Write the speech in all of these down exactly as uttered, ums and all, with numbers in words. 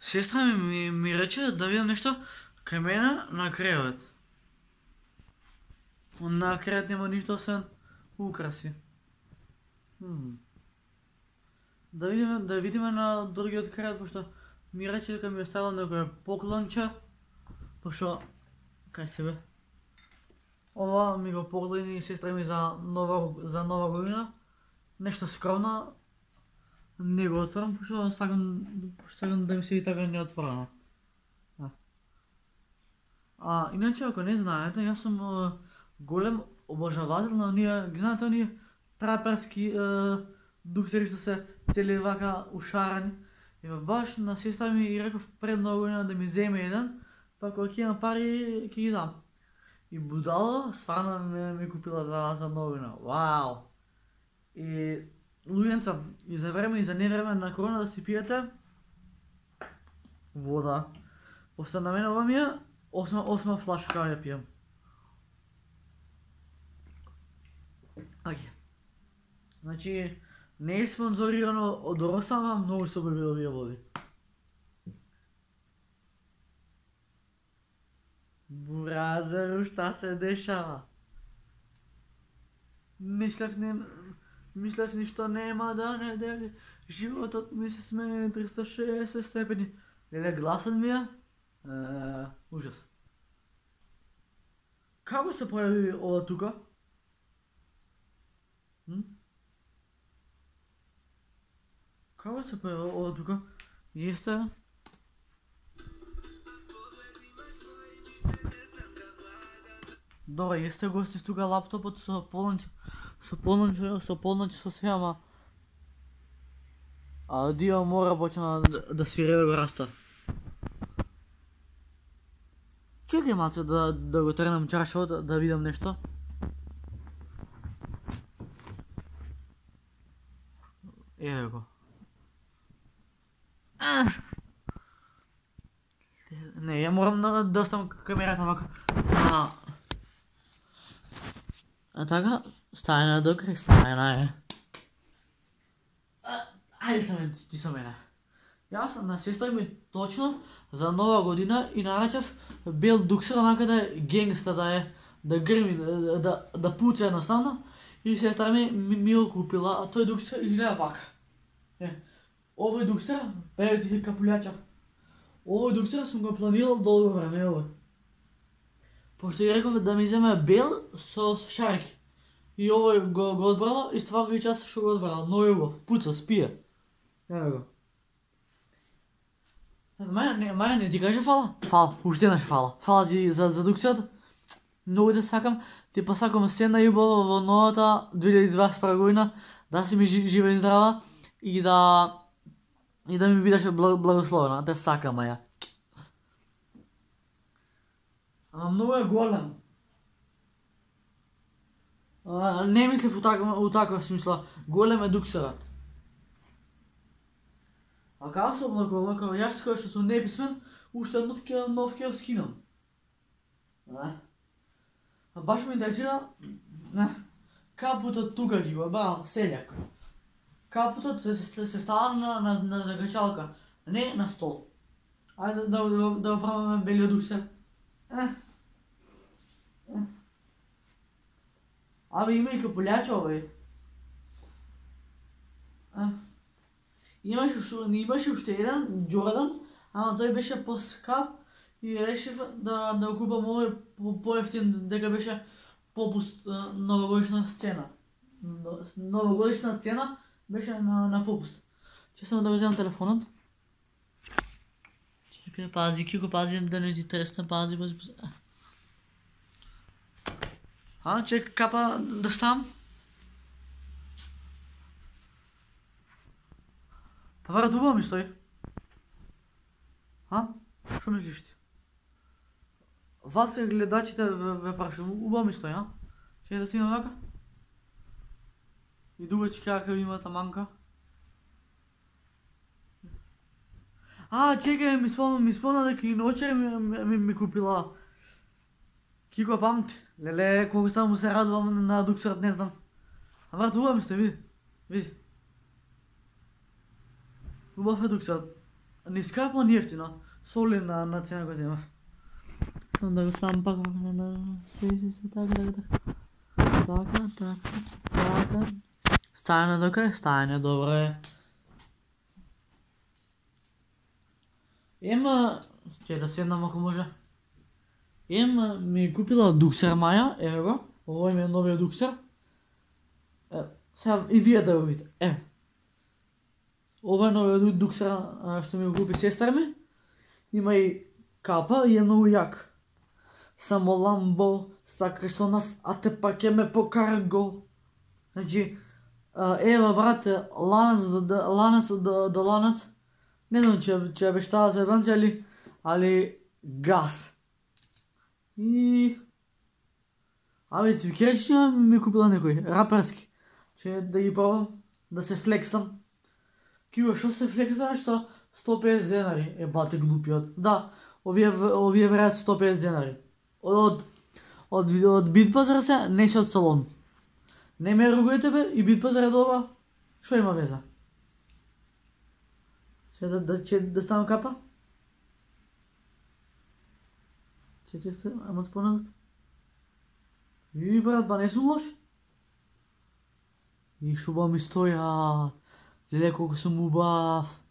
Сестра ми, ми, ми рече да видам нешто кај мене на кревет. На кревет нема ништо освен украси. Хм. Да видиме, да видиме на другиот кревет, пошто ми рече дека ми оставила некој поклонче, пошто кај себе. Ова ми го поклони сестра ми за нова за нова година. Нешто скромно. Не го отворам, пошто сакам, сакам да ми се и така неотворено. А. а, иначе, ако не знаете, јас сум е, голем обожавател на оние, ги знаете оние траперски е, дуксери што се цели вака ушарани. И баш на сестра ми и реков пред нова година да ми земе еден, па кога ќе имам пари ќе ги дам. И будало стварно ми, ми купила за, за нова година. Вау! И луѓенца, и за време и за невреме на корона да си пиете вода. Пошто на мене ова ми е осма, осма флашка кога ја пијам. Ајде. Значи, не е спонзорирано од Росама, многу се убави овие води. Бразеру, шта се дешава? Мислев не... Мислев ништо нема да не дели. Животот ми се смени триста и шеесет степени. Леле, гласот ми е... е... ужас. Како се појави ова тука? Hm? Како се појави ова тука? Јесте... Добре, јесте гости тука лаптопот со полноќ, со полноќ, со полноќ, со све, ама... А Дио мора почна да, да свиреве го раста. Чекај малце да, да го тренам чаршавот, да, да видам нешто. Еве го. А! Не, ја морам да, да оставам камерата вака. А, а така, стајна до крај, стајна е. Ајде са мен, ти со мене. Јас на сестра ми точно за нова година и нарачав бел дуксер, онакаде генгста да е, да грми, да, да, да пуца едноставно. И сестра ми ми, ми го купила, а тој дуксер изгледа вака. Е, овој дуксер, еве ти се капулјача. Овој дуксер сум го планирал долго време, овој. Пошто ја реков да ми земе бел со, со шарки. И овој го, го одбрало и ствака час што го одбрал. Многу убав, пуца, спие. Еве го. Маја не, Маја не ти каже фала? Фала, уште еднаш фала. Фала ти за, за дукцијата. Многу те сакам, ти посакам се најубаво во новата две илјади и дваесет и прва година, да си ми жива и здрава и да и да ми бидеш благословена. Те сакам, Маја. Ама многу е голем. А, не мислев у таква, у таква смисла. Голем е дуксерот. А како се облагува, како јас кој што сум неписмен, уште нов ке, нов ке скинам. А? А баш ме интересира, а, капутот тука ги го, ба, селјак. Капутот се, се, се става на, на, на закачалка, не на стол. Ајде да, да, да, да оправаме белиот дуксер. А? А? Абе, има и капулјача овој. А? Имаш уште, имаше уште еден, Джордан, ама тој беше поскап и решив да, да купам овој по, поевтин, дека беше попуст новогодишна сцена. Новогодишна цена беше на, на попуст. Че само да го земам телефонот. Чекај, пази, Кико, пази да не ти тресне, пази, пази, пази. А, чекај, капа да ставам. Па брат, убаво ми стои. А? Шо мислиш ти? Вас е гледачите ве, ве прашам, убаво ми стои, а? Че да си навака? И дугачки крака има таманка. А, чекај, ми спомна, ми спомна дека и ночер ми, ми, ми, ми купила. Кико памти. Леле, колко само се радувам на дуксерот, не знам. А брат, убаво ми стои, види. Види. Убав е дуксерот. ни скапа, ни ефтино. Соли на, на цена која земав. Само да го ставам пак на на се се се така така така. Така така така. Стајане до крај, стајане добре. Ема, ќе да седнам ако може. Ема ми купила дуксер Маја, еве го. Овој ми е новиот дуксер. Е, сега и вие да го видите. Еве. Ова е новиот дуксер што ми го купи сестра ми. Има и капа и е многу јак. Само ламбо, стака со нас, а те пак ќе ме покара го. Значи, ева брате, ланец до ланец до, до ланец. Не знам че че обештава за ебанци, али али газ. И абе цвикерчи ми купила некој раперски. Че да ги пробам, да се флексам. Кио, шо се флексаш со сто и песет денари? Е, бате глупиот. Да, овие овие верат сто и песет денари. Од од од, од Битпазар се, не се од салон. Не ме ругајте бе, и Битпазар е добра. Шо има веза? Се да да че да ставам капа? Че че ама поназад. И брат, ба не сум лош. И шуба ми стоја. Леле колку сум убав.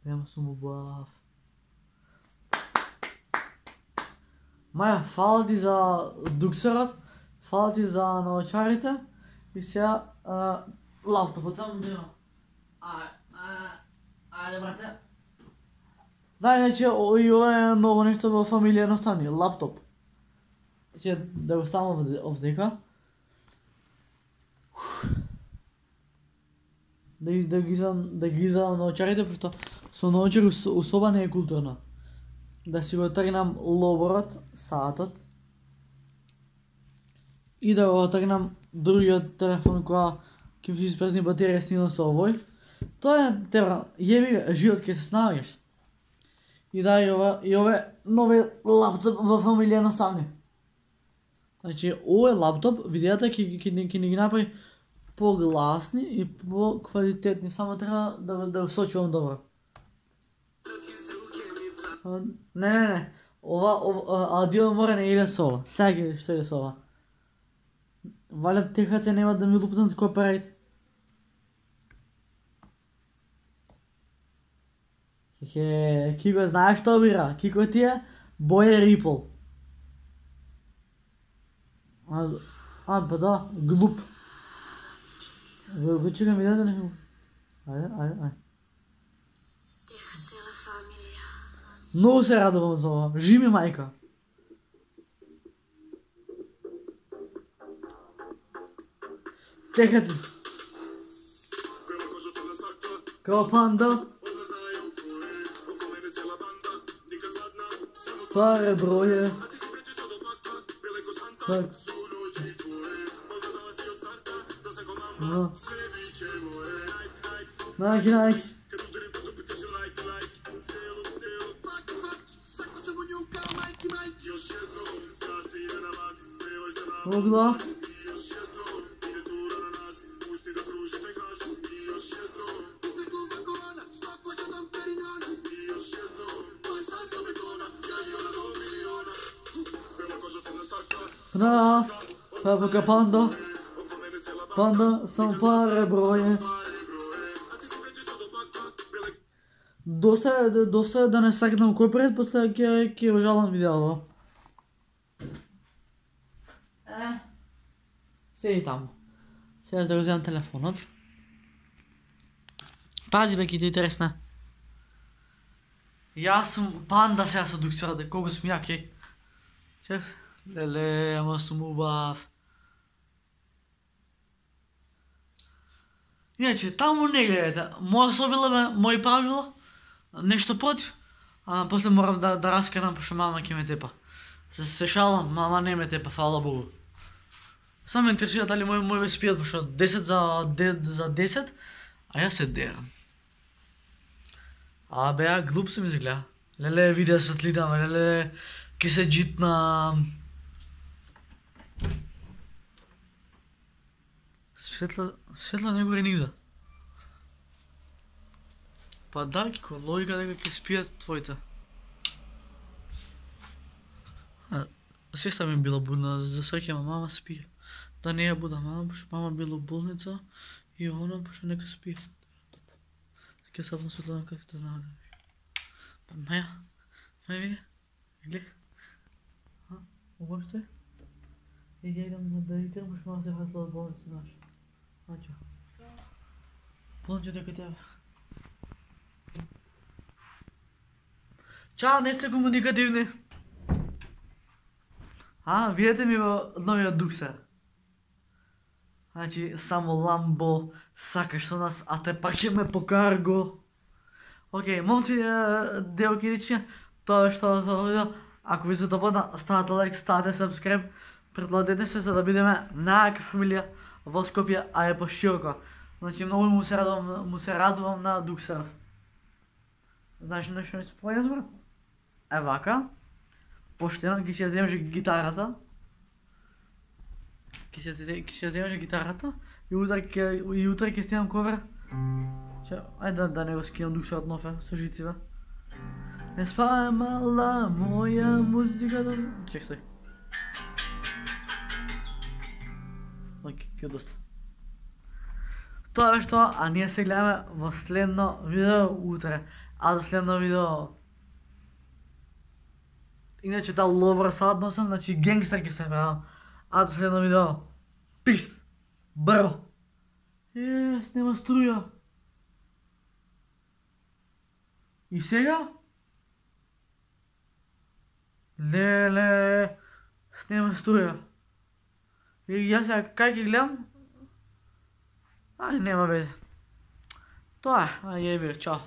Нема сум убав. Маја, фала ти за дуксерот, фала ти за наочарите и сега а, лаптопот само бива. Ајде, ајде брате. Да, иначе и ова е ново нешто во фамилија наставни, лаптоп. Че да го ставам овдека. Да ги да ги изам да ги изам наочарите, пошто со наочари особа не е културно. Да си го тргнам лоборот, саатот. И да го тргнам другиот телефон која ќе ми се испразни батерија снилам со овој. Тоа е тебра, јеби живот ќе се снаоѓаш. И да, и ова, и ова нови лаптоп во фамилија наставни. Значи, овој лаптоп, видеата ќе ќе ќе ни ги направи погласни и поквалитетни, само треба да да го сочувам добро. Не, не, не. Ова, ова аудио мора не иде со ова. Сега ги што иде со ова. Валјат техаци нема да ми лупнат копирајт. Хе, Кико знаеш што бира? Кико ти е боја Ripple. А, а, па да, глуп. Го го чекам видеото не му. Ајде, ајде, ајде. Многу се радувам за ова. Жими мајка. Техаци. Као панда. Паре броје. Так. No. Nike, Nike. O glass. Nas, Papa Panda. Panda сам паре броје. Доста доста да не сакнам кој пред, после ќе ќе го жалам видеото. Е. Седи таму. Сега да го земам телефонот. Пази бе, ки ти е интересна. Јас сум панда сега со дуксерот, колку сум јак, Чеф, леле, ама сум убав. Иначе, таму не гледате. Моја собила бе, мој правила, нешто против, а после морам да, да раскарам, пошто мама ќе ме тепа. Се, се шалам, мама не ме тепа, фала Богу. Само ме интересира дали мој мој ве спијат, пошто десет за, за десет, а јас се дерам. А бе, ја глуп се ми изгледа. Леле, видео светлина, леле, ке се джитна. Светла, светла не горе нигде. Па да, ко логика дека ќе спијат твоите. Сестра ми била будна, за среќа мама спие. Да не ја буда мама, пошто мама била у болница и она пошто нека спие. Ќе сапна светлана како да наоѓаш. Па Маја, Маја види, гледа. А, уопште? И ја идам да видам, пошто мама се вратила од болница, знаеш. Ајде. Болница дека тебе. Чао, не сте комуникативни. А, видете ми во новиот Дуксер. Значи, само Ламбо сакаш со нас, а те пак ќе ме покарго. Океј, момци, девојки и дечиња, тоа е што за видео. Ако ви се допадна, ставате лайк, ставате subscribe, предладете се за да бидеме најака фамилија во Скопје, а е пошироко. Значи, многу му се радувам, му се радувам на Дуксер. Знаеш нешто не се појас, брат? Е вака. Поштено, ќе си ја земеш гитарата. Ќе си ја земеш гитарата и утре ќе и утре ќе снимам ковер. Че, ајде да, да не го скинам Дуксерот нов е со жиците. Не спамала моја музика да... Чек, стој. Оке, ќе доста. Тоа е што, а ние се гледаме во следно видео утре. А за следно видео... Иначе таа ловра сад носам, значи генгстер ќе се правам. А до следно видео. Пис! Бро! Е, снема струја. И сега? Леле, снема струја. И јас сега кај ќе гледам? Ај, нема везе. Тоа е, ај, јеби, чао.